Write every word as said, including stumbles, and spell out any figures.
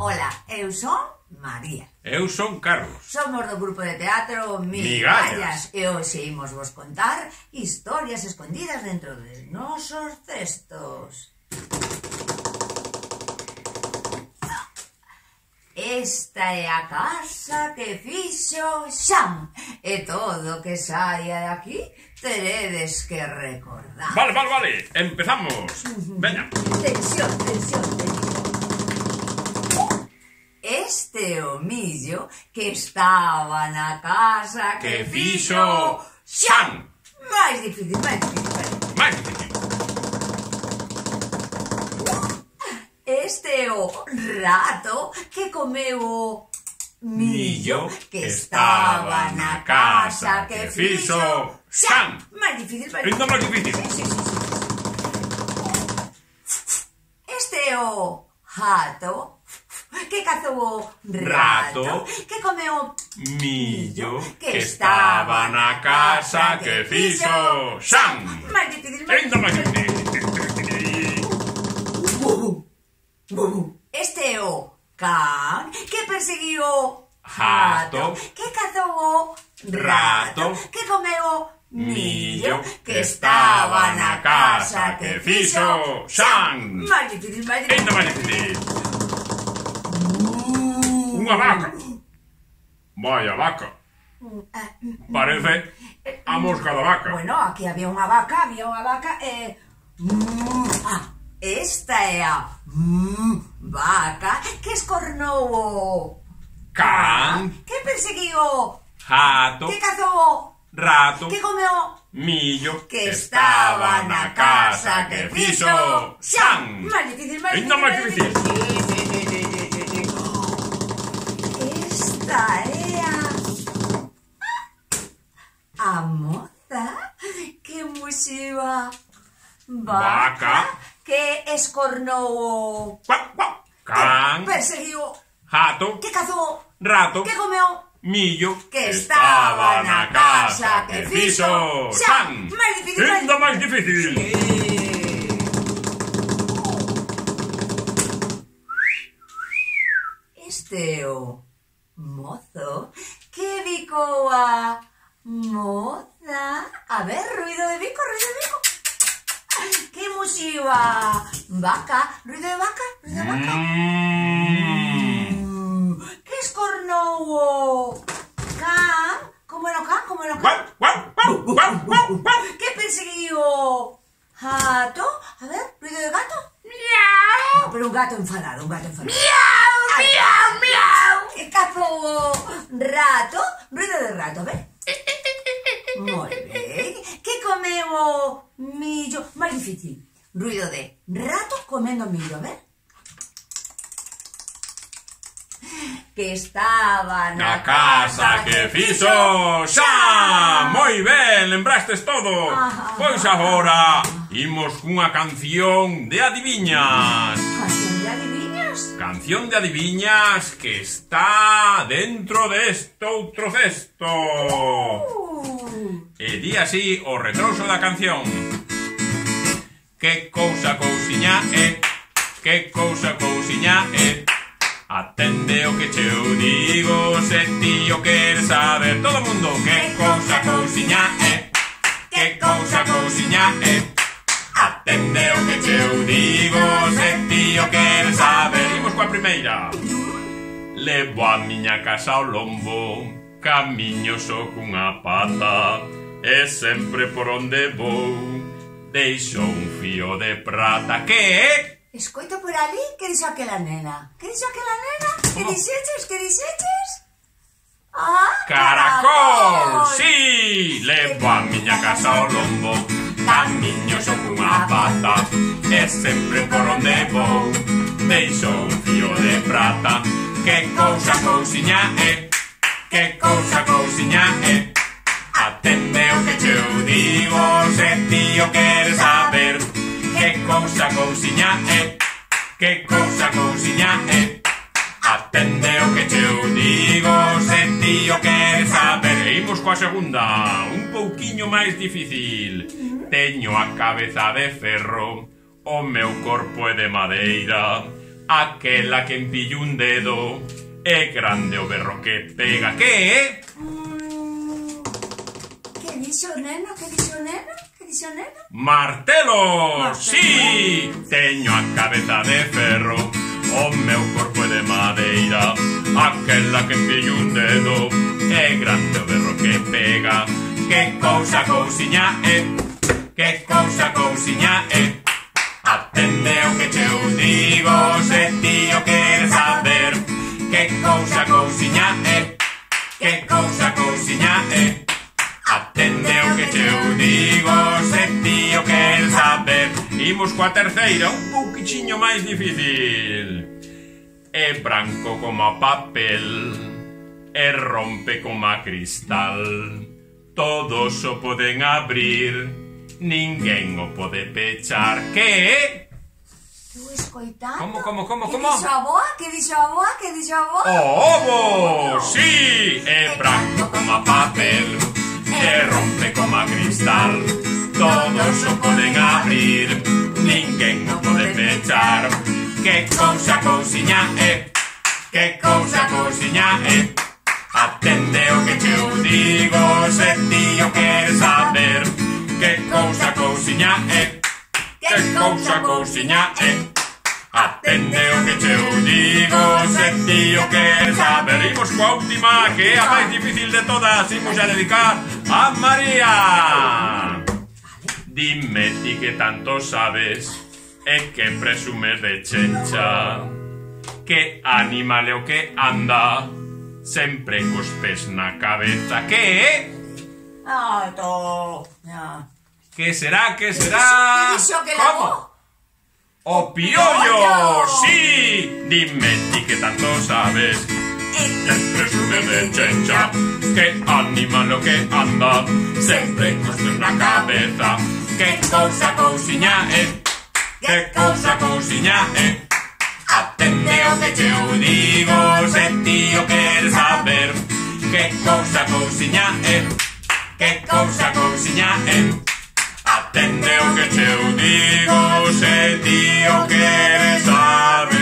Ola, eu son María. Eu son Carlos. Somos do grupo de teatro Migallas. E hoxe imos vos contar historias escondidas dentro de nosos cestos. Esta é a casa que fixo Xam. E todo o que saia de aquí teredes que recordar. Vale, vale, vale. Empezamos. Veña. Tensión, tensión, tensión. Este é o millo que estaba na casa que, Que fixo fixo Xam. Máis difícil, máis difícil, máis difícil. Máis difícil. Este é o rato que comeu o millo que estaba na casa que fixo Xam. Máis difícil, máis Ainda máis difícil. difícil. Sí, sí, sí, sí. Este é o jato que cazou o rato, Rato. que comeu Millo que estaba na casa que fixo Xam. máis difícil, máis Ainda máis difícil. difícil. Este é o can que perseguiu o Jato. que cazou o rato, Rato. que comeu o millo que estaba na casa que fixo Xam. máis difícil, máis difícil. Ainda máis difícil. Unha vaca. Vaya vaca. Parece a mosca da vaca. Bueno, aquí había unha vaca, había unha vaca e... Ah, esta é a vaca que escornou o Can. que perseguiu o Jato. que cazou o Rato. que comeu o Millo que estaba na casa que fixo Xam. máis difícil, máis Ainda máis difícil. Sí, sí, sí, sí, sí, sí. Esta é a a moza que muxiu a vaca que escornou o Cuac, cuac. que Can. perseguiu o Jato. que cazou o Rato. que comeu Millo que estaba na casa que fixo Xam. máis difícil, máis Ainda máis difícil. Este é o mozo que bicou a moza. A ver, ruido de bico, ruido de bico. Que muxiu a vaca, ruido de vaca, ruido de vaca. Mm. Que escornou o can. Como era o can, como era o can. Cuac, cuac, cuac, cuac, cuac, cuac. Que perseguiu o gato. A ver, ruido de gato. Miau. No, pero un gato enfadado, un gato enfadado. Miau, miau, miau. Que cazou o rato. Ruido de rato, a ver. Moi ben. Que comeu o millo. Máis difícil. Ruido de rato comendo millo, a ver. Que estaba Na casa que fixo Xam. Moi ben, lembrastes todo. Ajá. Pois agora imos cunha canción de adiviñas. Canción de adiviñas. Canción de adiviñas que está dentro deste outro cesto. Uh. E di así o retroso da canción. Que cousa cousiña é, que cousa cousiña é. Atende o que che eu digo, se ti o queres saber. Todo mundo, que cousa cousiña é, que cousa cousiña é. Atende o que che eu digo, se ti o queres saber. Imos coa primeira. Levo a miña casa ao lombo, camiño só cunha pata, e sempre por onde vou deixo un fío de prata. Que é? Escoito por ali, que dixo aquela nena? Que dixo aquela nena? Que Como? dixeches? Que dixeches? Ah, Caracol! Sí! Levo a miña casa ao lombo, camiño só cunha pata, e sempre por onde vou deixo un fío de prata. Que cousa cousiña é, que cousa cousiña é. Atende o que che eu digo, se ti o queres saber. Que cousa cousiña é, que cousa cousiña é. Atende o que che eu digo, se ti o queres saber. E imos coa segunda, un pouquiño máis difícil. Teño a cabeza de ferro, o meu corpo é de madeira, aquela que empilla un dedo, é grande o berro que pega. Que é? Mm, que dixo o neno? Que dixo o neno? Que dixo o neno? Martelo! Sí! Teño a cabeza de ferro, o meu corpo é de madeira, aquela que empilla un dedo, é grande o berro que pega. Que cousa cousiña é, que cousa cousiña é. Atende o que che digo, se ti o queres saber. Que cousa cousiña é, que cousa cousiña é. Atende o que che digo, se ti o queres saber. Imos coa terceira, un pouquichiño máis difícil. É branco como a papel, e rompe como a cristal. Todos o poden abrir, ninguén o pode pechar. Que é? Estou escoitando. Como, como, como, que como? dixo a boa? Que dixo a boa? Que dixo a boa? O ovo, sí! É branco como a papel, e rompe como a cristal. Todos o poden abrir, ninguén o pode pechar. Que cousa cousiña é, que cousa cousiña é. Atende o que che digo, se ti o queres saber. Que cousa cousiña é, que cousa cousiña é. Atende o que che digo, se ti o queres saber. Imos coa última, que é a máis difícil de todas. Imos a dedicar a María. Dime ti que tanto sabes, e que presumes de chencha. Que animal é o que anda sempre cos pés na cabeza. Que é? Ah, to... Ah. Que será, que será? Que dixo que era Como? bo? O piollo, sí. Dime ti que tanto sabes, que presume de chencha. Que animal o que anda sempre cos pés na cabeza. Que cousa cousiña é, que cousa cousiña é. Atende o que che digo, se ti o queres saber. Que cousa cousiña é, que cousa cousiña é. Atende o que che digo, se ti o queres saber.